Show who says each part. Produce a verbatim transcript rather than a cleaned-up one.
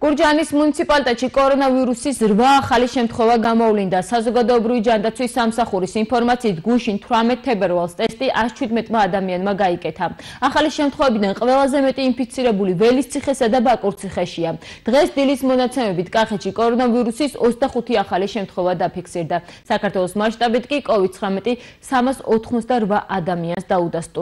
Speaker 1: გურჯაანის მუნიციპალიტეტში კორონავირუსის რვა ახალი შემთხვევა გამოვლინდა. საზოგადოებრივი ჯანდაცვის სამსახურის ინფორმაციით გუშინ თვრამეტ თებერვალს ტესტი ათს შვიდმეტმა ადამიანმა გაიკეთა. ახალი შემთხვევებიდან ყველაზე მეტი ინფიცირებული ველისციხესა და ბაკურციხეშია. დღეს დილის მონაცემებით კახეთში კორონავირუსის ოცდახუთი ახალი შემთხვევა დაფიქსირდა. საქართველოს მასშტაბით კი კოვიდ ცხრამეტი სამას ოთხმოცდარვა ადამიანს დაუდასტურდა.